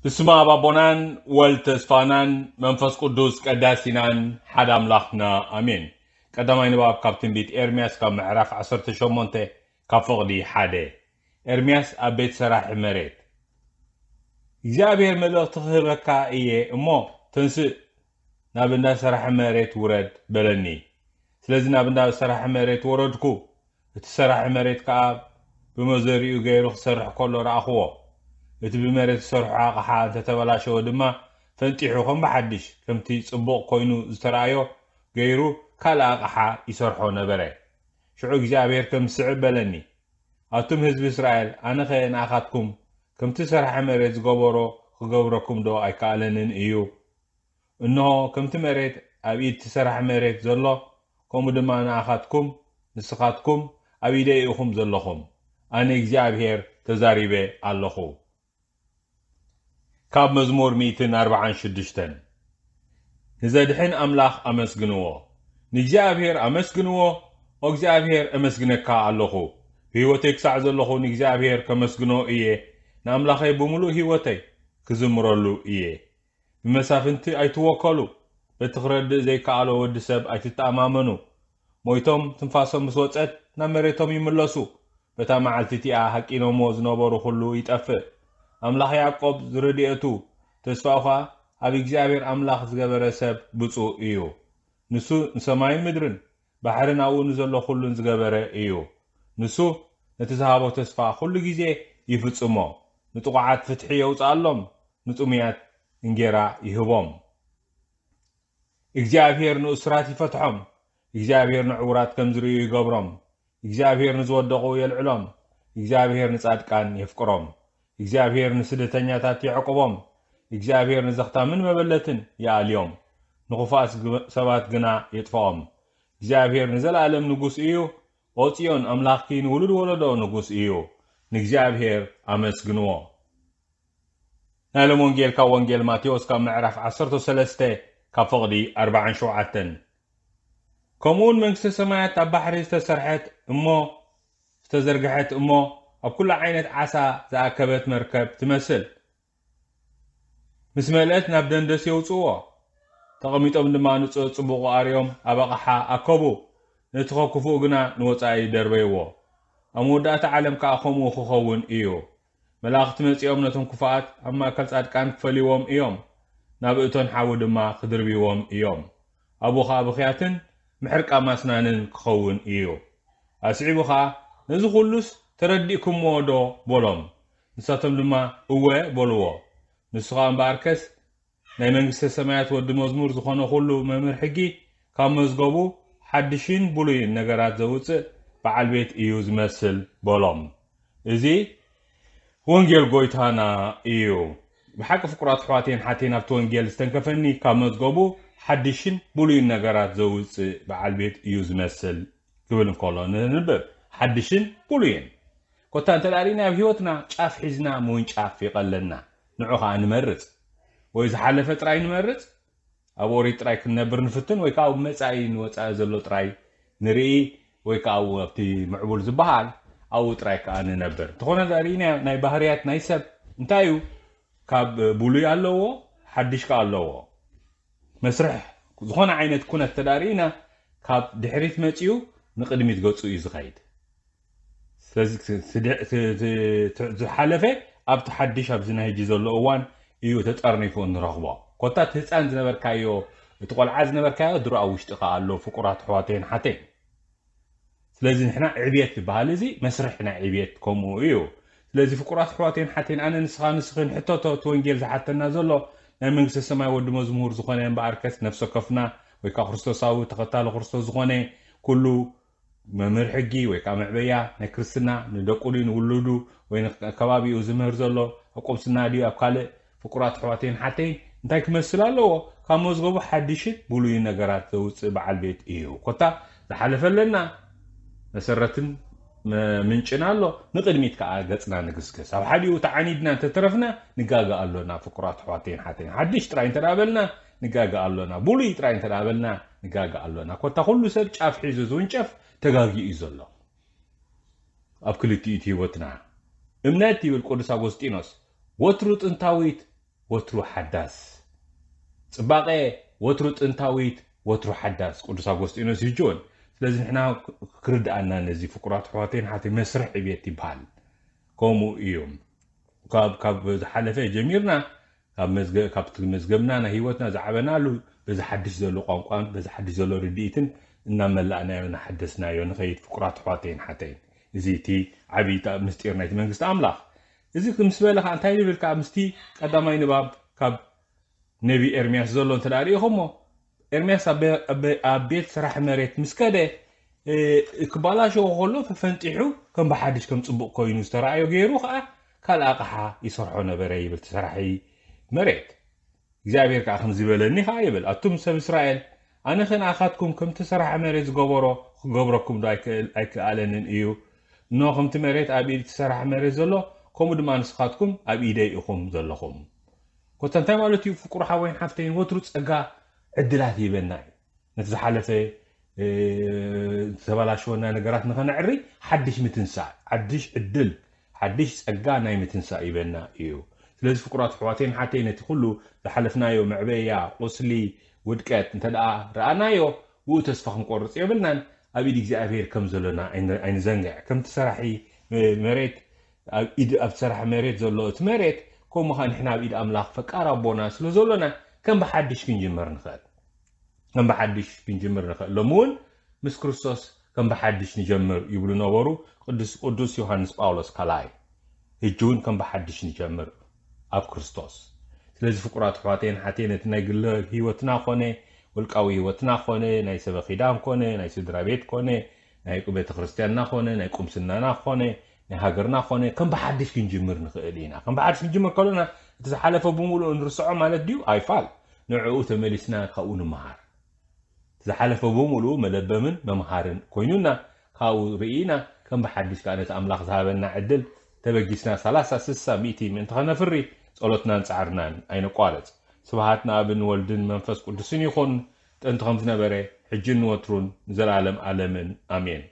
ብስመ ኣብ ኣቦናን ወልድ ተስፋናን መንፈስ ቅዱስ ቀዳሲናን ሓደ ኣምላኽና ኣሜን። ቀዳማይ ንባብ ካብ ትንቢት ኤርምያስ ካብ ምዕራፍ ዓሰርተ ሸሞንተ ካብ ፍቕዲ ሓደ። ኤርምያስ ኣብ ቤት ሰራሒ መሬት። እግዚኣብሔር መልእኽቲ ክህበካ እየ እሞ ተንስእ ናብ እንዳ ሰራሒ መሬት ውረድ በለኒ። ስለዚ ናብ እንዳ ሰራሒ መሬት ወረድኩ። እቲ ሰራሒ መሬት ከኣ ብመዘሪኡ ገይሩ ክሰርሕ ከሎ ረኣኽዎ። እቲ ብመሬት ዝሰርሖ ኣቕሓ እንተተበላሸወ ድማ ፈንጢሑ ከም ብሓድሽ ከምቲ ጽቡቕ ኮይኑ ዝተረኣዮ ገይሩ ካልእ ኣቕሓ ይሰርሖ ነበረ። ሽዑ እግዚኣብሔር ከም ዝስዕብ በለኒ። ኣቱም ህዝቢ እስራኤል፣ ኣነኸ ንኣኻትኩም ከምቲ ሰራሒ መሬት ዝገበሮ ክገብረኩም ዶ ኣይከኣለንን እዩ? እንሆ ከምቲ መሬት ኣብ ኢድ እቲ ሰራሕ መሬት ዘሎ፣ ከምኡ ድማ ንኣኻትኩም፣ ንስኻትኩም ኣብ ኢደይ ኢኹም ዘለኹም። ኣነ እግዚኣብሔር ተዛሪበ ኣለኹ። ካብ መዝሙር ሚእትን ኣርባዓን ሽዱሽተን። ንዘድሕን ኣምላኽ ኣመስግንዎ። ንእግዚኣብሔር ኣመስግንዎ። ኦ እግዚኣብሔር፣ እመስግነካ ኣለኹ። ብህይወተይ ክሳዕ ዘለኹ ንእግዚኣብሔር ከመስግኖ እየ። ንኣምላኸይ ብምሉእ ህይወተይ ክዝምረሉ እየ። ብመሳፍንቲ ኣይትወከሉ። በቲ ክረድእ ዘይከኣሎ ወዲ ሰብ ኣይትተኣማመኑ። ሞይቶም ትንፋሶም ምስ ወጸት ናብ መሬቶም ይምለሱ። በታ መዓልቲ እቲኣ ሃቂኖሞ ዝነበሩ ኩሉ ይጠፍእ። ኣምላኽ ያዕቆብ ዝረድኤቱ ተስፋኡ ኸኣ ኣብ እግዚኣብሔር ኣምላኽ ዝገበረ ሰብ ብፁእ እዩ። ንሱ ንሰማይን ምድርን ባሕርን ኣብኡ ንዘሎ ኩሉን ዝገበረ እዩ። ንሱ ነቲ ዝሃቦ ተስፋ ኩሉ ግዜ ይፍጽሞ። ንጥቑዓት ፍትሒ የውጽኣሎም፣ ንጥሙያት እንጌራ ይህቦም። እግዚኣብሔር ንእሱራት ይፈትሖም። እግዚኣብሔር ንዕውራት ከም ዝርእዩ ይገብሮም። እግዚኣብሔር ንዝወደቑ የልዕሎም። እግዚኣብሔር ንጻድቃን የፍቅሮም። እግዚኣብሔር ንስደተኛታት የዕቁቦም። እግዚኣብሔር ንዘኽታምን መበለትን ይኣልዮም። ንኽፉኣት ግ-፣ ሰባት ግና የጥፍኦም። እግዚኣብሔር ንዘለኣለም ንጉስ እዩ። ኦ ጽዮን፣ ኣምላኽኪ ንውሉድ ወለዶ ንጉስ እዩ። ንእግዚኣብሔር ኣመስግንዎ። ናይ ሎም ወንጌል ካብ ወንጌል ማቴዎስ ካብ ምዕራፍ ዓሰርተ ሰለስተ ካብ ፍቕዲ ኣርባዓን ሸውዓተን። ከምኡውን መንግስተ ሰማያት ኣብ ባሕሪ ዝተሰርሐት እሞ፣ ዝተዘርግሐት እሞ፣ ኣብ ኩሉ ዓይነት ዓሳ ዝኣከበት መርከብ ትመስል። ምስ መልአት ናብ ደንደስ የውጽእዎ። ተቐሚጦም ድማ ንጽ-፣ ጽቡቕ ኣርዮም ኣብ ኣቕሓ ኣከቡ። ነቲ ኸክፉኡ ግና ንወጻኢ ደርበይዎ። ኣብ መወዳእታ ዓለም ከኣ ከምኡ ክኸውን እዩ። መላእኽቲ መጺኦም ነቶም ክፉኣት ኣብ ማእከል ጻድቃን ክፈልይዎም እዮም። ናብ እቶን ሓዊ ድማ ክድርብይዎም እዮም። ኣብኡ ኸኣ ብኽያትን ምሕርቃም ኣስናንን ክኸውን እዩ። ኣስዒቡ ኸኣ፣ "ነዚ ኹሉስ ተረዲእኩምዎ ዶ?" በሎም። ንሳቶም ድማ፣ "እወ" በልዎ። ንሱ ኸኣ እምበኣርከስ፣ ናይ መንግስተ ሰማያት ወዲ መዝሙር ዝኾነ ኹሉ መምህር ሕጊ ካብ መዝገቡ ሓድሽን ብሉይን ነገራት ዘውጽእ በዓል ቤት እዩ ዝመስል በሎም። እዚ ወንጌል ጎይታና እዩ። ብሓቂ ፍቁራት ኣሕዋተይን ሓተይን ኣብቲ ወንጌል ዝተንከፈኒ ካብ መዝገቡ ሓድሽን ብሉይን ነገራት ዘውጽእ በዓል ቤት እዩ ዝመስል ክብል እንከሎ ንንብብ። ሓድሽን ብሉይን። ኮታ እንተ ደኣ ርኢና ኣብ ህይወትና ጫፍ ሒዝና ምውንጫፍ ይቐለና። ንዑ ኸኣ ንመርጽ። ወይ ዝሓለፈ ጥራይ ንመርጽ፣ ኣብ ኦሪት ጥራይ ክንነብር ንፍትን፣ ወይ ከኣ ኣብ መጻኢ ንወጻኢ ዘሎ ጥራይ ንርኢ፣ ወይ ከኣ ኣብኡ ኣብቲ ምዕቡል ዝበሃል ኣብኡ ጥራይ ከኣ ንነብር። እንተኾነ ርኢና ናይ ባህርያት ናይ ሰብ እንታይ እዩ? ካብ ብሉይ ኣለዎ፣ ሓድሽ ከኣ ኣለዎ። መስርሕ ዝኾነ ዓይነት ኩነት ተዳርኢና ካብ ድሕሪት መጺኡ ንቕድሚት ገጹ እዩ ዝኸይድ። ስለዚ እቲ፣ እቲ፣ እቲ፣ እቲ ዝሓለፈ ኣብቲ ሓድሽ ኣብዚ ናይ ሕጂ ዘሎ እዋን እዩ ተጠርኒፉ እንረኽቦ። ኮታ እቲ ህፃን ዝነበርካዮ፣ እቲ ቆልዓ ዝነበርካዮ ድሮ ኣብ ውሽጥኻ ኣሎ፣ ፍቁራት ኣሕዋተይን ሓተይን። ስለዚ ንሕና ዕብየት ዝበሃል እዚ መስርሕ ናይ ዕብየት ከምኡ እዩ። ስለዚ ፍቁራት ኣሕዋተይን ሓተይን፣ ኣነ ንስኻ ንስኽን ሕተቶ፣ እቲ ወንጌል ዝሓተና ዘሎ ናይ መንግስተ ሰማይ ወዲ መዝሙር ዝኾነ እምበኣርከስ ነፍሲ ወከፍና ወይ ከዓ ክርስቶሳዊ ተኸታሊ ክርስቶስ ዝኾነ ኩሉ መምህር ሕጊ ወይ ከዓ መዕበያ ናይ ክርስትና ንደቁ ድዩ ንውሉዱ ወይ ንከባቢኡ ዝምህር ዘሎ ኣብ ቁምስና ድዩ ኣብ ካልእ ፍቁራት ኣሕዋተይን ሓተይን እንታይ ክመስል ኣለዎ? ካብ መዝገቡ ሓድሽን ብሉይን ነገራት ዘውፅእ በዓል ቤት እዩ። ኮታ ዝሓለፈ ኣለና፣ መሰረትን መ-፣ ምንጭን ኣሎ፣ ንቕድሚት ከዓ ገፅና ንግስግስ። ኣብ ሓዲኡ ተዓኒድና እንተተረፍና ንጋገ ኣሎና። ፍቁራት ኣሕዋተይን ሓተይን፣ ሓድሽ ጥራይ እንተ ደኣ በልና ንጋገ ኣሎና፣ ብሉይ ጥራይ እንተ ደኣ በልና ንጋገ ኣሎና። ኮታ ኩሉ ሰብ ጫፍ ሒዙ ዝውንጨፍ ተጋጊኡ እዩ ዘሎ። ኣብ ክልቲኡ እቲ ህይወትና እምነት ይብል ቅዱስ ኣጎስጢኖስ ወትሩ ጥንታዊት ወትሩ ሓዳስ፣ ጽባቐ ወትሩ ጥንታዊት፣ ወትሩ ሓዳስ፣ ቅዱስ ኣጎስጢኖስ ይጅወን። ስለዚ ንሕና ክርድኣና ነዚ ፍቁራት ኣሕዋተይን ሓተይ መስርሕ ዕብየት ይበሃል። ከምኡ እዩ። ካብ ካብ ዝሓለፈ ጀሚርና ካብ መዝገ- ካብቲ መዝገብና ናይ ህይወትና ዝዓበናሉ በዚ ሓድሽ ዘሎ ቋንቋን በዚ ሓድሽ ዘሎ ርድኢትን እናመላእናዮ እናሓደስናዮ ንኸይድ ፍቁራት ኣሕዋተይን ሓተይን። እዚ እቲ ዓብዪ ምስጢር ናይቲ መንግስቲ ኣምላኽ። እዚ ምስ በለ ከዓ እንታይ ንብል ከዓ ምስቲ ቀዳማይ ንባብ ካብ ነቢ ኤርምያስ ዘሎ እንተ ደኣ ርኢኹሞ፣ ኤርምያስ ኣብ ቤ- ኣብ ቤ- ኣብ ቤት ስራሕ መሬት ምስ ከደ እ፣ ክባላሸዎ ከሎ ፈፈንጢሑ ከም ብሓድሽ ከም ጽቡቕ ኮይኑ ዝተረኣዮ ገይሩ ከዓ ካልእ ኣቕሓ ይሰርሖ ነበረ ይብል እቲ ሰራሒ መሬት። እግዚኣብሔር ከዓ ከምዚ በለኒ ከዓ ይብል፣ ኣቱም ሰብ እስራኤል፣ ኣነ ከ ንኣኻትኩም ከምቲ ሰራሒ መሬት ዝገበሮ ክገብረኩም ዶ ኣይክእል- ኣይክኣለንን እዩ? እነሆ ከምቲ መሬት ኣብ ኢድ እቲ ሰራሒ መሬት ዘሎ፣ ከምኡ ድማ ንስኻትኩም ኣብ ኢደይ ኢኹም ዘለኹም። ኮታ እንታይ ማለት እዩ? ፍቁር ሓወይን ሓፍተይን ወትሩ ጸጋ ዕድላት ይህበና እዩ። ነቲ ዝሓለፈ እ፣ ዝተበላሸወና ነገራት ንኸነዕሪ ሓድሽ ምትንሳእ፣ ሓድሽ ዕድል፣ ሓድሽ ጸጋ ናይ ምትንሳእ ይበና እዩ። ስለዚ ፍቁራት ኣሕዋተይን ሓተይ ነቲ ኩሉ ዝሓለፍናዮ መዕበያ፣ ቁስሊ፣ ውድቀት እንተ ደኣ ረኣናዮ ብኡ ተስፋ ክንቆርጽ የብልናን። ኣብ ኢድ እግዚኣብሔር ከም ዘለና ኣይን- ኣይንዘንግዕ። ከምቲ ሰራሒ መ- መሬት ኣብ ኢድ ኣብቲ ሰራሒ መሬት ዘሎ እቲ መሬት ከምኡ ኸዓ ንሕና ኣብ ኢድ ኣምላኽ ፈቃር ኣቦና ስለ ዘሎና ከም ብሓድሽ ክንጅምር ንኽእል። ከም ብሓድሽ ክንጅምር ንኽእል። ሎሚ እውን ምስ ክርስቶስ ከም ብሓድሽ ንጀምር ይብሉ ነበሩ ቅዱስ ቅዱስ ዮሃንስ ጳውሎስ ካልኣይ። ሕጂ እውን ከም ብሓድሽ ንጀምር ኣብ ክርስቶስ። ስለዚ ፍቁራት ኣሕዋተይን ሓተይ ነቲ ናይ ግለ ህይወትና ኾነ ውልቃዊ ህይወትና ኾነ ናይ ሰበ ኺዳን ኮነ ናይ ስድራ ቤት ኮነ ናይ ቤተ ክርስቲያንና ኾነ ናይ ቁምስናና ኾነ ናይ ሃገርና ኾነ ከም ብሓድሽ ክንጅምር ንኽእል ኢና። ከም ብሓድሽ ክንጅምር ከሎና እቲ ዝሓለፈ ብምሉኡ ንርስዖ ማለት ድዩ? ኣይፋል። ንዕኡ ተመሊስና ካብኡ ንምሃር። ዝሓለፈ ብምሉኡ መለበምን መምሃርን ኮይኑና፣ ካብኡ ርኢና ከም ብሓድሽ ከኣ ነቲ ኣምላኽ ዝሃበና ዕድል ተበጊስና ሰላሳ፣ ስሳ፣ ሚእቲ ምእንቲ ኸነፍሪ ጸሎትናን ጻዕርናን ኣይነቋርጽ። ስብሃት ንኣብን ወልድን መንፈስ ቅዱስን ይኹን፣ ጥንቲ ከም ዝነበረ፣ ሕጅን ንወትሩን ንዘለኣለም ኣለምን። ኣሜን።